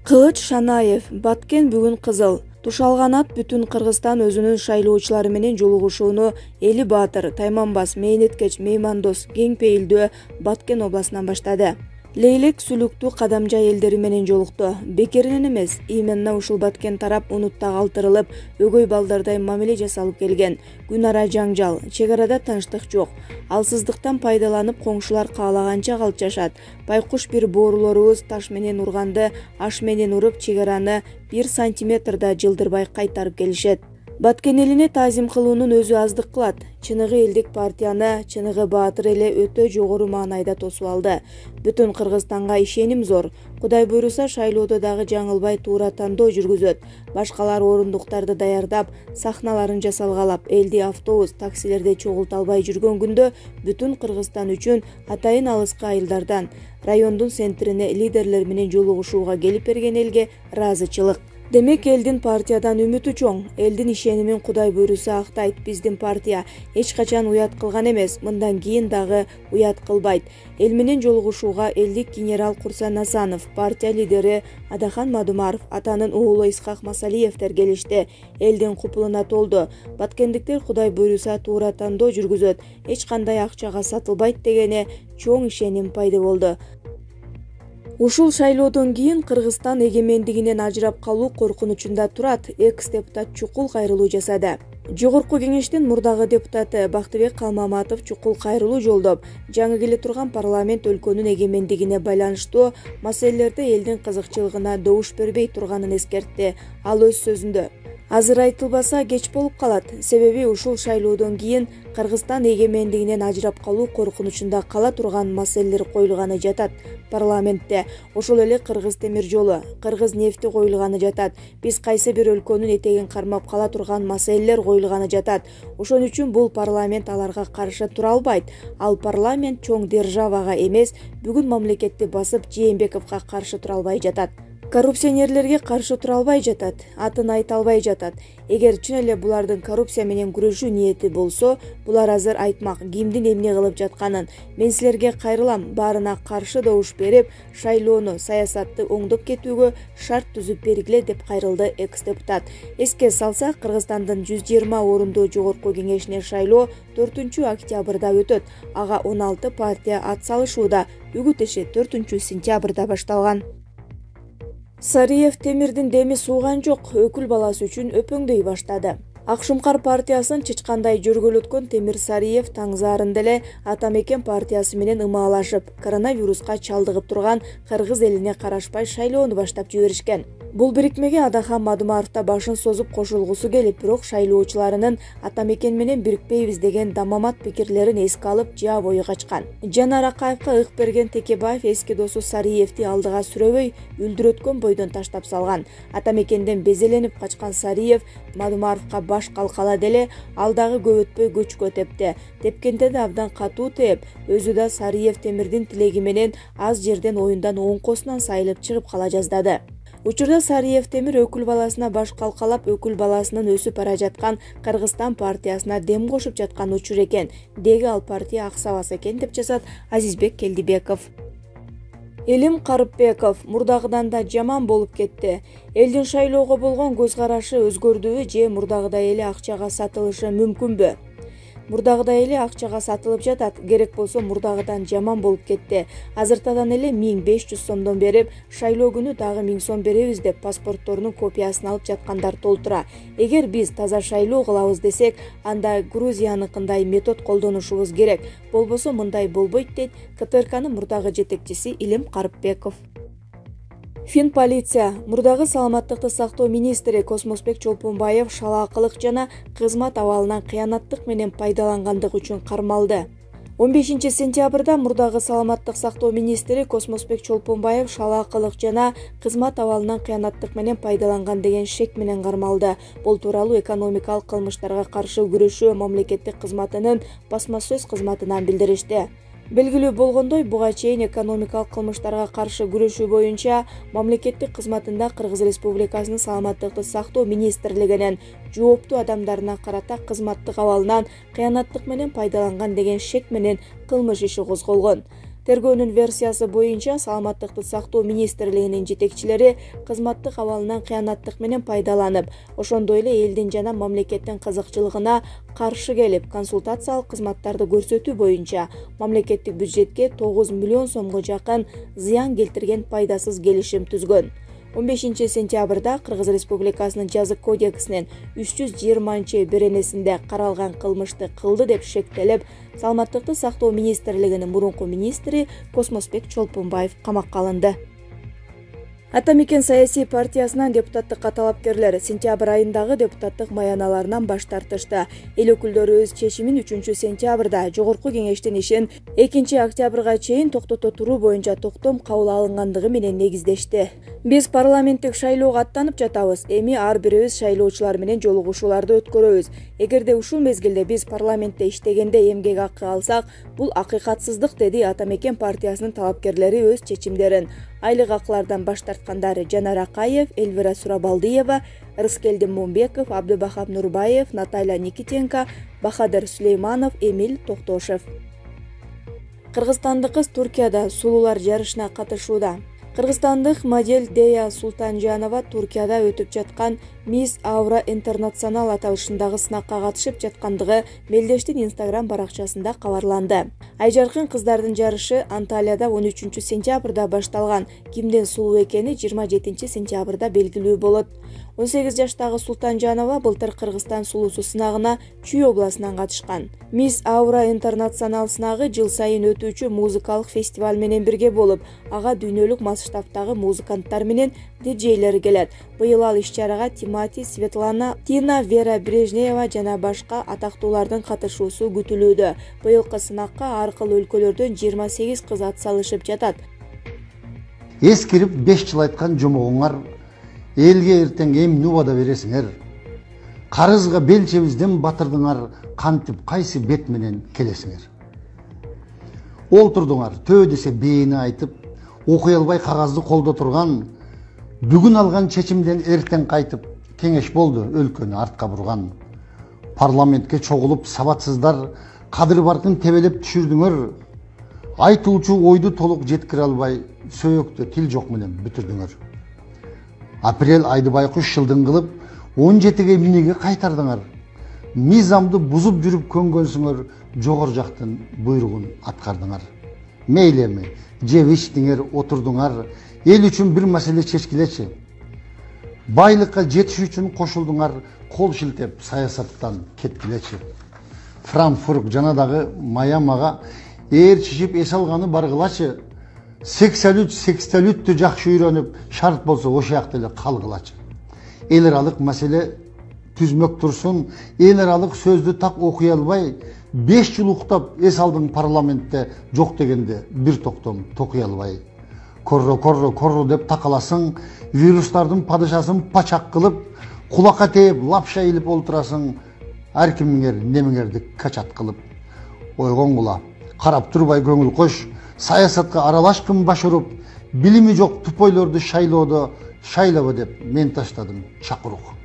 Кылыч Шанаев, Баткен бүгүн кызыл. Тушалган ат бүтүн Кыргызстан өзүнүн шайлоочулары менен жолугушууну Эли Баатыр, Тайманбас, Мейнеткеч, Меймандос, Кең Пейилдөө, Баткен областынан баштады. Лейлек Сүлүктүү Кадамжа элдери менен жолукту. Бекеринен эмес, именно ушул Баткен тарап унутта калтырылып, өгөй балдардай мамиле жасалып келген. Күн ара жаңжал, чек арада тынчтык жок. Алсыздыктан пайдаланып коңшулар каалаганча калып жашат. Байкуш бир боорулорубуз таш менен урганды, аш менен уруп чек араны 1 сантиметр да жылдырбай кайтарып келишет. Баткен элине таазим кылуунун өзү аздык кылат. Чыныгы элдик партияны Чыныгы Баатыр эле өтө жогору маанайда тосуп алды. Бүтүн Кыргызстанга ишеним зор. Кудай буйруса шайлоодо дагы жаңылбай туура тандоо жүргүзөт. Башкалар орундуктарды даярдап, сахналарын жасалгалап, элди автобус, таксилерде чогулта албай жүргөн күндө бүтүн Кыргызстан үчүн атайын алыскы айылдардан райондун центрине лидерлер менен жолугушууга келип берген элге ыраазычылык. Демек элдин партиядан үмүтү чоң, элдин ишенимин Кудай буйруса актайт. Биздин партия эч качан уят кылган эмес, мындан кийин дагы уят кылбайт. Эл менен жолугушууга элдик генерал Курсан Асанов, партия лидери Адахан Мадумаров, атанын уулу Исхак Масалиевдер келишти. Элдин купулуна толду. Баткендиктер Кудай буйруса туура тандоо жүргүзөт, эч кандай акчага сатылбайт дегене чоң ишеним пайда болду. Ушул шайлоодон кийин Кыргызстан эгемендигинен ажырап калуу коркунучунда турат. Экс-депутат чукул кайрылуу жасады. Жогорку кеңештин мурдагы депутаты Бактыбек Калмаматов чукул кайрылуу жолдоп, жаңы келе турган парламент өлкөнүн эгемендигине байланыштуу маселелерде элдин кызыкчылыгына добуш бербей турганын эскертти. Ал өз сөзүндө: азыр айтылбаса кеч болуп калат. Себеби ушул шайлоодон кийин Кыргызстан эгемендигинен ажырап калуу коркунучунда кала турган маселелер коюлганы жатат парламентте. Ошол эле Кыргыз темир жолу, Кыргыз нефти коюлганы жатат. Биз кайсы бир өлкөнүн этегин кармап кала турган маселелер коюлганы жатат. Ошон үчүн бул парламент аларга каршы тура албайт. Ал парламент чоң державага эмес, бүгүн мамлекетти басып Жээнбековго каршы тура албай жатат. Коррупционерлерге каршы тура албай жатат, атын айта албай жатат. Эгер чын эле булардын коррупция менен күрөшүү ниети болсо, булар азыр айтмак кимдин эмне кылып жатканын. Мен силерге кайрылам, баарына каршы добуш берип, шайлоону, саясатты оңдоп кетүүгө шарт түзүп бергиле деп кайрылды экс-депутат. Эске салсак, Кыргызстандын 120 орундуу жогорку кеңешине шайлоо 4 октябрда өтөт. Ага 16 партия ат салышууда. Үгүт иши 4 сентябрда башталган. Сариев темирдин деми сууган жок, өкүл баласы үчүн өпөңдөй баштады. Акшумкар партиясын чычкандай жөргөлөткөн Темир Сариев таңзаарында эле Ата Мекен партиясы менен ымаалашып, коронавируска чалдыгып турган Кыргыз элине карашпай шайлоону баштап жиберишкен. Бул бирикмеге Адахан Мадумаров да башын созуп кошулгусу келип, бирок шайлоочуларынын Ата Мекен менен бирикпейбиз деген дамамат пикирлерин эске алып, жаа бою качкан. Жанар Акаевка ых берген Текебаев эски досу Сариевди алдыга сүрөбөй, үлдүрөткөн бойдон таштап салган. Ата Мекенден безеленип качкан Сариев Мадумаровка баш калкала деле ал дагы көп өтпөй көчкө тепти. Тепкенде да абдан катуу теп, өзү да Сариев темирдин тилеги менен аз жерден оюндан оңкосунан сайылып чыгып кала жаздады. Учурда Сариев темир өкүл баласына баш калкалап, өкүл баласынын өсүп бара жаткан Кыргызстан партиясына дем кошуп жаткан учур экен. Деги ал партия аксабас экен деп жазат Азизбек Келдибеков. Элим Карыпбеков мурдагыдан да жаман болуп кетти. Элдин шайлоого болгон көз карашы өзгөрдүбү же мурдагыдай эле акчага сатылышы мүмкүнбү? Мурдагыдай эле акчага сатылып жатат. Керек болсо мурдагыдан жаман болуп кетти. Азыртадан эле 1500 сомдон берип, шайлоо күнү дагы 1000 сом беребиз деп паспортторунун копиясын алып жаткандар толтура. Эгер биз таза шайлоо кылабыз десек, анда Грузияныкындай метод колдонушубуз керек. Болбосо мындай болбойт дейт КПРКнын мурдагы жетекчиси Элим Карыпбеков. Финполиция мурдагы саламаттыкты сактоо министри Космосбек Чолпонбаев шалаакылык жана кызмат абалынан кыянаттык менен пайдалангандык үчүн кармалды. 15 сентябрда мурдагы саламаттык сактоо министри Космосбек Чолпонбаев шалаакылык жана кызмат абалынан кыянаттык менен пайдаланган деген шек менен кармалды. Бул тууралуу экономикалык кылмыштарга каршы күрөшүү мамлекеттик кызматынын басма сөз кызматынан билдиришти. Белгилүү болгондой, буга чейин экономикалык кылмыштарга каршы күрөшүү боюнча мамлекеттик кызматында Кыргыз Республикасынын саламаттыкты сактоо министрлигинин жооптуу адамдарына карата кызматтык абалынан кыянаттык менен пайдаланган деген шек менен кылмыш иши козголгон. Тергөөнүн версиясы боюнча саламаттыкты сактоо министрлигинин жетекчилери кызматтык абалынан кыянаттык менен пайдаланып, ошондой эле элдин жана мамлекеттин кызыкчылыгына каршы келип, консультациялык кызматтарды көрсөтүү боюнча мамлекеттик бюджетке 9 миллион сомго жакын зыян келтирген пайдасыз келишим түзгөн. 15 сентябрда Кыргыз Республикасынын жазык кодексинин 320-беренесинде каралган кылмышты кылды деп шектелип, саламаттыкты сактоо министрлигинин мурунку министри Космосбек Чолпунбаев камакка алынды. Ата Мекен саясий партиясынан депутаттыкка талапкерлер сентябрь айындагы депутаттык маяналарынан баш тартышты. Эл өкүлдөрү өз чечимин 3 сентябрда Жогорку кеңештин ишин 2 октябрга чейин токтото туруу боюнча токтом кабыл алынгандыгы менен негиздешти. Биз парламенттик шайлоого аттанып жатабыз. Эми ар бирибиз шайлоочулар менен жолугушууларды өткөрөбүз. Эгерде ушул мезгилде биз парламентте иштегенде эмгек акы алсак, бул акыйкатсыздык, деди Ата Мекен партиясынын талапкерлери өз чечимдерин. Айлык акылардан баш тарткандары Жанар Акаев, Эльвира Сурабалдиева, Рыскелдин Мумбеков, Абдыбахап Нурбаев, Наталья Никитенко, Бахадыр Сулейманов, Эмиль Токтошев. Кыргызстандык кыз Туркияда сулуулар жарышына катышууда. Кыргызстандык модель Дея Султанжанова Туркияда өтүп жаткан Miss Aura International аталышындагы сынакка катышып жаткандыгы Мелдештин Instagram баракчасында кабарланды. Айжаркын кыздардын жарышы Анталияда 13 сентябрда башталган. Кимдин сулуу экени 27 сентябрда белгилүү болот. 18 жаштагы Султанжанова былтыр Кыргызстан сулуусу сынагына Чүй областынан катышкан. Miss Aura International сынагы жыл сайын өтүүчү музыкалык фестиваль менен бирге болуп, ага дүйнөлүк масштабтагы музыканттар менен диджейлер келет. Быйыл ал иш-чарага Тимати, Светлана, Тина, Вера Брежнева жана башка атактуулардын катышуусу күтүлүүдө. Быйылкы сынакка ар кыл өлкөлөрдөн 28 кыз атсалышып жатат. Эскирип 5 жыл айткан жомогуңар элге эртең эмне убада бересиңер? Карызга белчебизден батырдыңар, кантип кайсы бет менен келесиңер? Олтурдуңар, төө десе бээни айтып, окуй албай кагазды колдо турган, бүгүн алган чечимден эртең кайтып, кеңеш болду өлкөнү артка бурган. Парламентке чогулуп сабатсыздар, кадыр баркын тебелеп түшүрдүңөр. Айтылчу ойду толук жеткире албай, сөөктө тил жок менен бүтүрдүңөр. Апрель айды байкуш жылдын кылып, 17-ге эмнеге кайтардыңар? Мыйзамды бузуп жүрүп көнгөнсүңөр, жогор жактын буйругун аткардыңар. Мейли эми, жеп ичтиңер, отурдуңар, эл үчүн бир маселе чечкилечи. Байлыкка жетиш үчүн кошулдуңар, кол шилтеп саясаттан кеткилечи. Франкфурт жана дагы Майамага ээрчишип эс алганы баргылачы. 83-83-тү жакшы үйрөнүп, шарт болсо ошояктуу эле калгылачы. Эл аралык маселе түзмөк турсун, эл аралык сөздү так окуй албай, 5 жыл уктап эс алдың парламентте жок дегенде бир токтом токуй албай. Корро деп такаласың, вирустардын падышасын пачак кылып, кулакка тээп, лапша илип олтурасың, ар кимиңер немиңерди качат кылып. Ойгоңгула, карап турбай көңүл кош, саясатка аралашкын баш уруп, билими жок тупойлорду шайлоодо шайлабы деп мен таштадым чакырук.